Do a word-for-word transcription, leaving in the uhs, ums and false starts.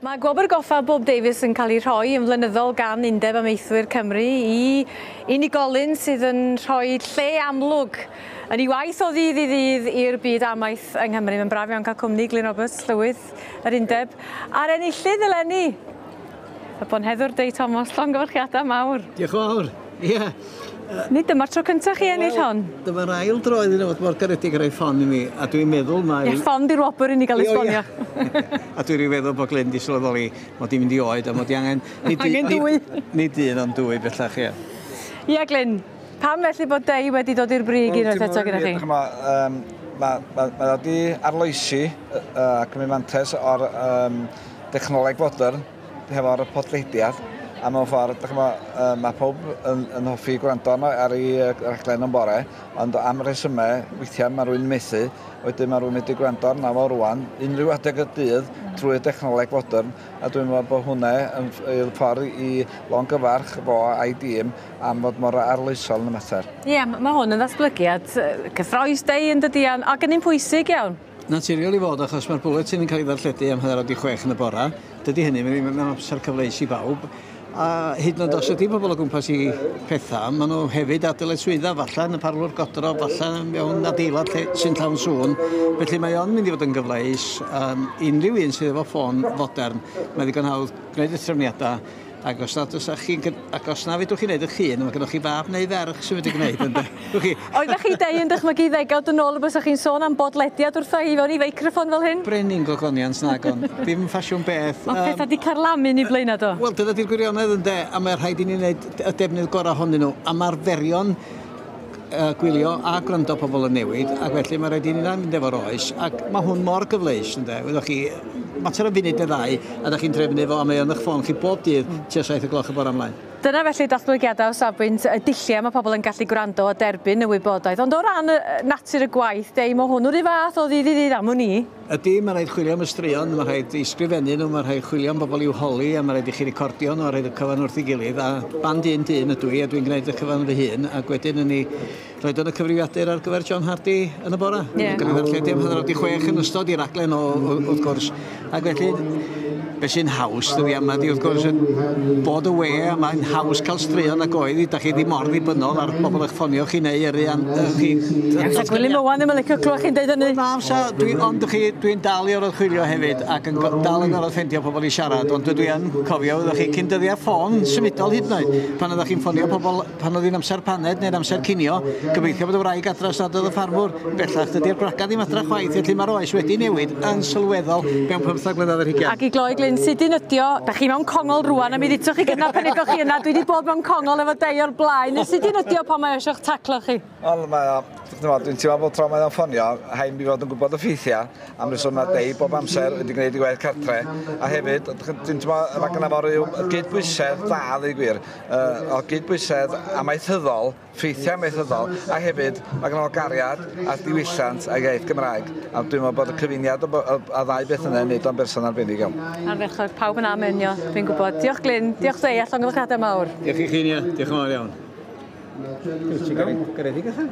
Mae Gwobr Goffa Bob Davies yn cael ei rhoi yn flynyddol gan Undeb Amaethwyr Cymru i unigolyn sydd yn rhoi lle amlwg yn ei waith o ddydd i ddydd i'r byd amaeth yng Nghymru. Mae'n braf iawn cael cwmni Glyn Roberts, Llywydd yr Undeb. A'r enillydd eleni, y bonheddwr Dei Thomas, llongyfarchiadau mawr. Diolch yn fawr. Ie. Yeah. Nid dyma'r tro cyntaf chi ennill hon? Dyma'r ail dro iddyn nhw fod mor garedig ar ei ffon i mi, a dwi'n meddwl mai... Ie, ffon di'r wobr i ni gael esbonio. A dwi'n meddwl bod Glyn di sylweddoli mod i'n mynd i oed a mod i angen... Nid, angen dwy. Nid un, ond dwy bellach, ie. Ie, Glyn, pam felly bod Dei wedi dod i'r brig unwaith eto gyda chi? Mae wedi arloesi a cymryd mantais o'r dechnoleg fodern hefo'r podlediad. A mewn ffordd, dych chi'mod, mae pob yn, yn hoffi gwrando arno ar ei raglen yn bore, ond am resymau, weithiau mae rhywun methu, wedyn mae rhywun wedi gwrando arno fo rwan, unrhyw adeg y dydd, trwy dechnoleg fodern, a dwi'n meddwl bod hwnna yn ffordd i longyfarch fo a'i dîm am fod mor arloesol yn y mater. Ie, yeah, mae hwn yn ddatblygiad cyffrous Dei yn dydi, ac yn un pwysig iawn. Naturiol i fod, achos mae'r bwletin yn cael ei ddarlledu am hanner awr wedi chwech yn y bora. Dydy hynny ddim yn amser cyfleus i bawb. A hyd yn oed os ydy pobl o gwmpas i pethau, maen nhw hefyd ar dyletswyddau, falle yn y parlwr godro, falle mewn adeilad lle sy'n llawn sŵn. Felly mae o'n mynd i fod yn gyfleus. Um, unrhyw un sydd efo ffôn fodern, mae ddigon hawdd gwneud y trefniadau. Ac os nad oes chi, ac os na fedrwch chi wneud eich hun, mae gennych chi fab neu ferch sy'n wedi gwneud, ynde? Oeddech chi Dei yn dychmygu ddegawd yn ôl y bysach chi'n sôn am bodlediad wrtha i fewn i feicroffon fel hyn? Brenin gogoniant nagon, ddim ffasiwn beth. Mae pethau wedi carlamu ni blaenau do. Wel, dyna di'r gwirionedd ynde, a mae rhaid i ni wneud y defnydd gorau ohonyn nhw. A mae'r arferion uh, gwylio a gwrando pobl yn newid, ac felly mae rhaid i ni mynd efo'r oes. Ac mae hwn mor gyfleus, ynde? Wyddoch chi, mater o funud neu ddau, a da chi'n trefnu fo, a mae o'n eich ffôn chi bob dydd tua saith o gloch y bore ymlaen. Dyna felly datblygiadau o safbwynt y dulliau mae pobl yn gallu gwrando a derbyn y wybodaeth. Ond o ran natur y gwaith, Dei, mae hwn o'r un fath o ddydd i ddydd am wn i. Ydy, mae rhaid chwilio am y straeon, mae rhaid i sgrifennu nhw, mae rhaid chwilio am bobl i'w holi, a mae rhaid i chi recordio nhw, a rhaid y cyfan wrth ei gilydd. A band un dyn ydw i, a dwi'n gwneud y cyfan fy hun, ac wedyn yn ei roed yn y cyfrifiadur ar gyfer John Hardy yn y bore. Yeah. Gan ei ddarlledu am hanner awr wedi chwech yn ystod i raglen o, o, wrth gwrs. Ac felly, beth sy'n haws dyddi yma di, wrth gwrs, bod y we, a mae'n haws cael straeon ag oedd i, da chi ddim mor ddibynnol ar bobl eich ffonio chi neu yrru an, chi... Sa Gwilym Owen ddim yn licio clywed chi'n deud hynny. Na, sa, dwi, ond chi, dwi'n dal i orfod chwilio hefyd ac yn dal yn orfod ffeindio pobl i siarad, ond dwi yn cofio, oeddech chi cyn dyddiau ffôn symudol hyd yn oed, pan oeddech chi'n ffonio pobl, pan oedd hi'n amser paned neu'n amser cinio, gobeithio bod y wraig adra os nad oedd y ffarmwr. Bellach, dydy'r gwragedd ddim adra chwaith, felly mae'r oes wedi newid yn sylweddol mewn pymtheg mlynedd ar hugain. Ac i gloi, Glyn, sydyn ydi o, da chi mewn congol rwan, a mi ddutoch chi gynna pan egoch chi yna, dwi wedi bod mewn congol efo Dei o'r blaen. Sydyn ydi o pan mae eisiau'ch taclo chi? Wel, mae o, dwi'n teimlo bod tro mae o'n ffonio, rhaid mi fod yn gwybod y ffeithiau, am reswm mae Dei bob amser wedi gwneud ei gwaith cartre, a hefyd, dwi'n teimlo, mae gynna fo ryw gydbwysedd da, ddeud gwir, uh, o gydbwysedd amaethyddol, ffeithiau amaethyddol, a hefyd mae gynna fo gariad a diwylliant a iaith Gymraeg, a dwi'n meddwl bod y cyfuniad o, o, a ddau beth yna yn neud o'n berson arbennig iawn. Ardderchog, pawb yn amenio, dwi'n gwybod. Diolch Glyn, diolch Dei, a llongyfarchiadau mawr. Diolch i chi, Nia. Diolch yn fawr iawn. Ti'n garedig allan?